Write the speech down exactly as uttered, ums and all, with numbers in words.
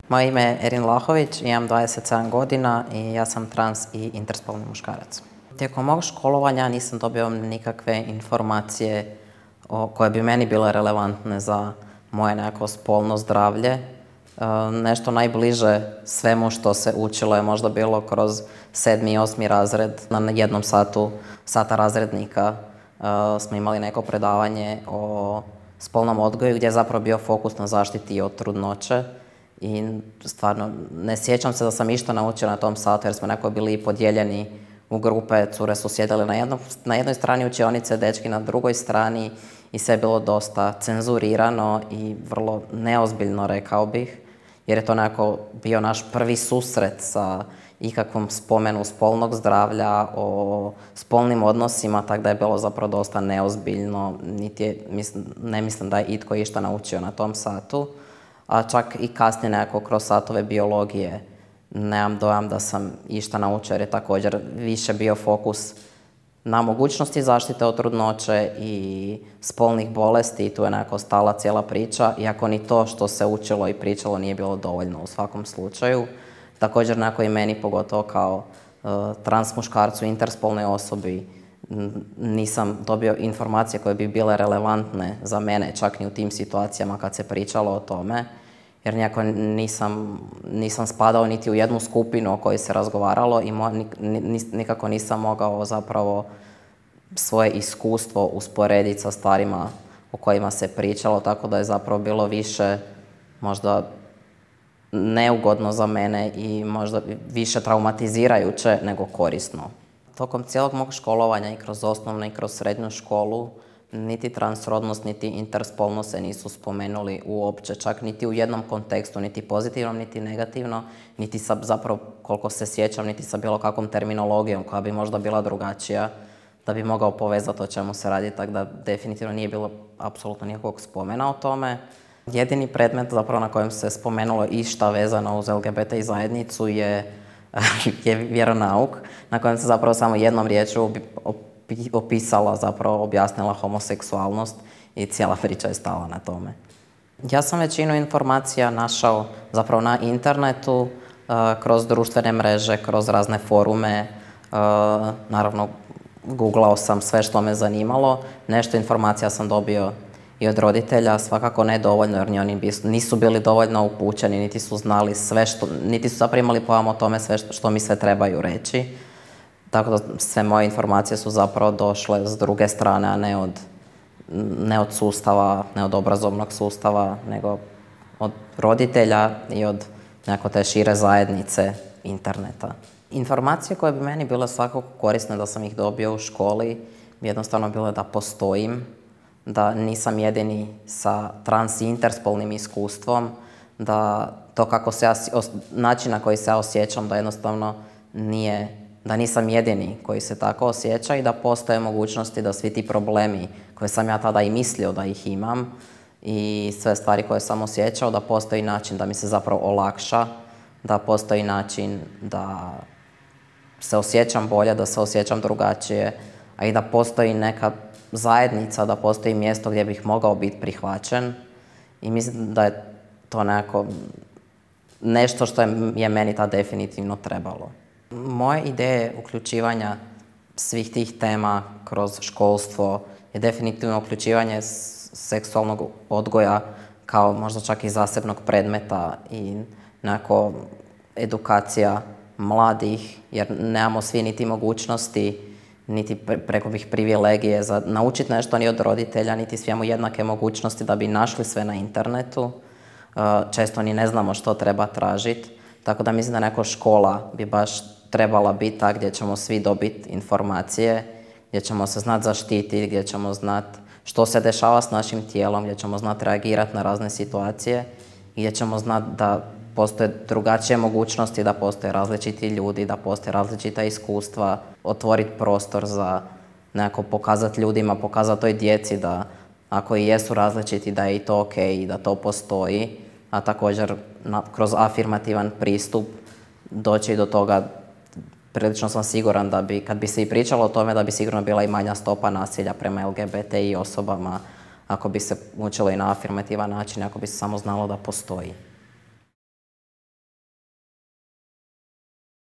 Moje ime je Erin Lahović, imam dvadeset sedam godina i ja sam trans i interspolni muškarac. Tijekom mog školovanja nisam dobio nikakve informacije o, koje bi meni bile relevantne za moje nekako spolno zdravlje. E, nešto najbliže svemu što se učilo je možda bilo kroz sedmi i osmi razred. Na jednom satu, sata razrednika e, smo imali neko predavanje o spolnom odgoju gdje je zapravo bio fokus na zaštiti od trudnoće. I stvarno ne sjećam se da sam išta naučila na tom satu jer smo nekako bili podijeljeni u grupe, cure su sjedile na, jedno, na jednoj strani učionice, dečki na drugoj strani i sve je bilo dosta cenzurirano i vrlo neozbiljno, rekao bih, jer je to nekako bio naš prvi susret sa ikakvom spomenu spolnog zdravlja, o spolnim odnosima, tako da je bilo zapravo dosta neozbiljno, niti je, mislim, ne mislim da je itko išta naučio na tom satu. A čak i kasnije nekako kroz satove biologije nemam dojam da sam išta naučio jer je također više bio fokus na mogućnosti zaštite od trudnoće i spolnih bolesti i tu je nekako stala cijela priča, iako ni to što se učilo i pričalo nije bilo dovoljno u svakom slučaju. Također nekako i meni, pogotovo kao uh, trans muškarcu, interspolnoj osobi, nisam dobio informacije koje bi bile relevantne za mene, čak ni u tim situacijama kad se pričalo o tome, jer nekako nisam, nisam spadao niti u jednu skupinu o kojoj se razgovaralo i mo, nikako nisam mogao zapravo svoje iskustvo usporediti sa stvarima o kojima se pričalo, tako da je zapravo bilo više možda neugodno za mene i možda više traumatizirajuće nego korisno. Tokom cijelog mog školovanja i kroz osnovnu i kroz srednju školu niti transrodnost, niti interspolno se nisu spomenuli uopće, čak niti u jednom kontekstu, niti pozitivnom, niti negativno, niti sa, zapravo, koliko se sjećam, niti sa bilo kakvom terminologijom koja bi možda bila drugačija, da bi mogao povezati o čemu se radi, tako da definitivno nije bilo apsolutno nikakvog spomena o tome. Jedini predmet zapravo na kojem se spomenulo išta vezano uz L G B T I zajednicu je je vjeronauk, na kojem se zapravo samo jednom riječju opisala, zapravo objasnila homoseksualnost i cijela priča je stala na tome. Ja sam većinu informacija našao zapravo na internetu, kroz društvene mreže, kroz razne forume, naravno googlao sam sve što me zanimalo, nešto informacija sam dobio i od roditelja, svakako ne dovoljno jer ni oni nisu bili dovoljno upućeni, niti su znali sve što, niti su zapravo imali pojam o tome sve što, što mi sve trebaju reći. Tako da sve moje informacije su zapravo došle s druge strane, a ne od, ne od sustava, ne od obrazovnog sustava, nego od roditelja i od nekako te šire zajednice interneta. Informacije koje bi meni bile svakako korisne da sam ih dobio u školi bi jednostavno bile da postojim, da nisam jedini sa trans i interspolnim iskustvom, da to kako se ja, način na koji se ja osjećam da jednostavno nije, da nisam jedini koji se tako osjeća i da postoje mogućnosti da svi ti problemi koje sam ja tada i mislio da ih imam i sve stvari koje sam osjećao, da postoji način da mi se zapravo olakša, da postoji način da se osjećam bolje, da se osjećam drugačije, a i da postoji neka zajednica, da postoji mjesto gdje bih mogao biti prihvaćen i mislim da je to nekako nešto što je, je meni ta definitivno trebalo. Moje ideje uključivanja svih tih tema kroz školstvo je definitivno uključivanje seksualnog odgoja kao možda čak i zasebnog predmeta i nekako edukacija mladih, jer nemamo svi niti mogućnosti niti preko bih privilegije za naučiti nešto ni od roditelja, niti svi imamo jednake mogućnosti da bi našli sve na internetu. Često ni ne znamo što treba tražiti, tako da mislim da neka škola bi baš trebala biti ta gdje ćemo svi dobiti informacije, gdje ćemo se znati zaštiti, gdje ćemo znati što se dešava s našim tijelom, gdje ćemo znati reagirati na razne situacije, gdje ćemo znati da postoje drugačije mogućnosti, da postoje različiti ljudi, da postoje različita iskustva, otvoriti prostor za nekako pokazati ljudima, pokazati toj djeci da ako i jesu različiti da je i to ok i da to postoji, a također na, kroz afirmativan pristup doći do toga. Prilično sam siguran da bi, kad bi se i pričalo o tome, da bi sigurno bila i manja stopa nasilja prema L G B T I osobama, ako bi se učilo i na afirmativan način, ako bi se samo znalo da postoji.